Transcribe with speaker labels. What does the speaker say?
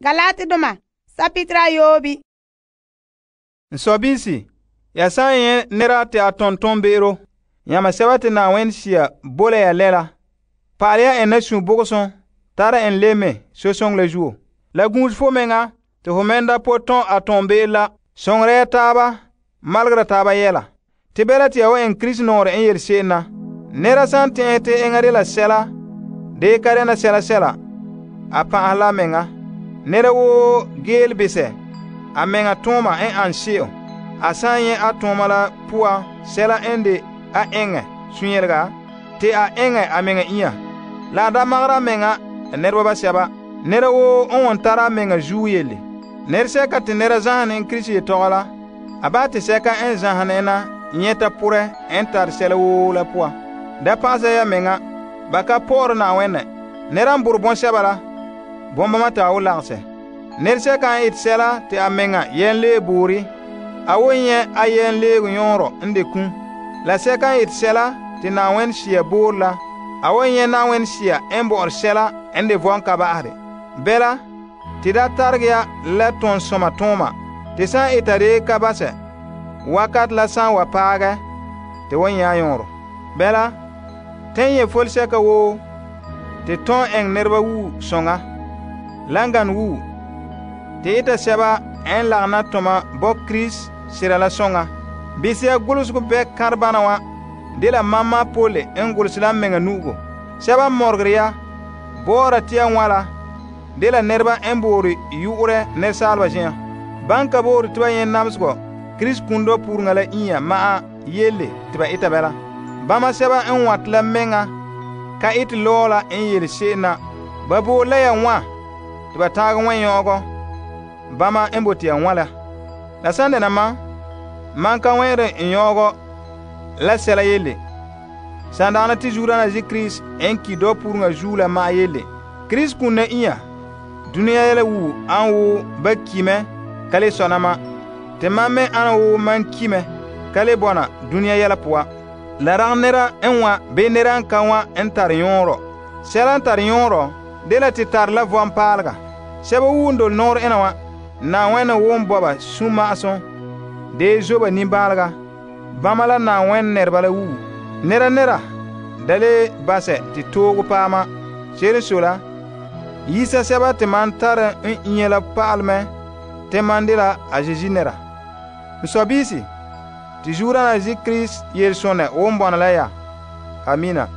Speaker 1: Galatidoma sapitra yobi.
Speaker 2: N sɔbiisi, ya san nyɛ nera te a tonton be'ero, yãma sɛba te Na'ayenɛ Sea bo la ya lɛla, pa'alɛ ya en na sunbogosum tara en le mɛ sosoŋɔ la zuo. La guse fo meŋa te ho mɛn da po tɔn a toonbe'ero la, soŋora ya taaba, malegera taaba yɛla. Te bala te ya wan eŋɛ Krista nɔɔrɛ n yele se'em na. Nɛra san tɛn'ɛhe te enŋa dela sɛla, dee ka dɛna sɛla sɛla, a pan'ahɛ la a meŋa. Nɛra woo geele besɛ a meŋa tooma n ane se'em. A san nyɛ a tooma la poan sɛla n de a eŋɛ sunyelega, te a eŋɛ a meŋa inya. La a da magara a meŋa nɛreba basɛba. Nɛra woo n won tara a meŋa zuo yele. Nɛresɛka te nɛra zanhɛ ne en Krista yetɔgɔ la, a bahɛ te sɛka n zanhɛ ne na nyɛta porɛ n tare sɛla woo la poan. Da pa'asa ya meŋa, ba ka pɔ'ɔre Na'ayenɛ. Nɛra n borɛ bɔŋsɛba la, bɔŋbama te a wo lagahɛ. Nɛresɛka n ete sɛla te a meŋa yɛnlee boore, a wo nyɛ a yɛnleego yɔɔrɔ n de kum. La sɛka n ete sɛla te Na'ayenɛ Sea boore la, a wo nyɛ Na'ayenɛ Sea n bɔ'ɔre sɛla n de vɔn ka ba'ahɛ. Bɛla, te da taregɛ ya la tonsoma tooma, te san eta de ka basɛ, wakat la san wa paagɛ, te wan nyɛ a yɔɔrɔ. Bɛla, tɛn nyɛ folsɛka woo, te tõn eŋɛ nɛreba wuu soŋa, la n gane wuu, te eta sɛba n lagena toma bo Krista sera la soŋa. Bise ya golosego bɛ kãrebana wa dela mamma Pole n golose la meŋa nu'ugo. Sɛba n mɔregere ya, bɔɔra te ya wãla, dela nɛreba n boore yu'urɛ nɛresaaleba zen'an. Ban ka boore te ba nyɛ namesegɔ Krista kundɔ puureŋa la inya ma'an yele te ba eta bɛla. Bama sɛba n wãte la meŋa ka ete lɔɔ la n yele se'em na. Ba boore la ya wã te ba taagɛ wã nyɔgɔ bama n bote ya wã la. La san dɛna man ka wɛn'ɛre n nyɔgɔ la sɛla yele. San dagana te zuodaana zi Krista n ki dɔ puureŋa zuo la ma'an yele. Krista kun na inya dunia yɛla wuu an wo ba ki mɛ ka le sɔna ma. Te man me ana wo man ki mɛ ka le bɔna dunia yɛla poan. La ragɛ nɛra n wã bii nɛra n ka wã n tare yɔɔrɔ. Sɛla n tare yɔɔrɔ dela te tare la vɔn paalega. Sɛba woo n dole nɔɔrɛ ena wã, Na'ayenɛ woo bo ba sũma'asum dee zo ba nimbaalega. Bama la Na'ayenɛ nɛreba la wuu. Nɛra da le basɛ te toogo paama. Se'ere n sɔe la, yisa sɛba te man tare n inya la pa'alɛ mɛ te man dela a Zeezi nɛra. N sɔbiisi, te zuodaana zi Krista yelesonɛ woo n bɔna la ya. Amina.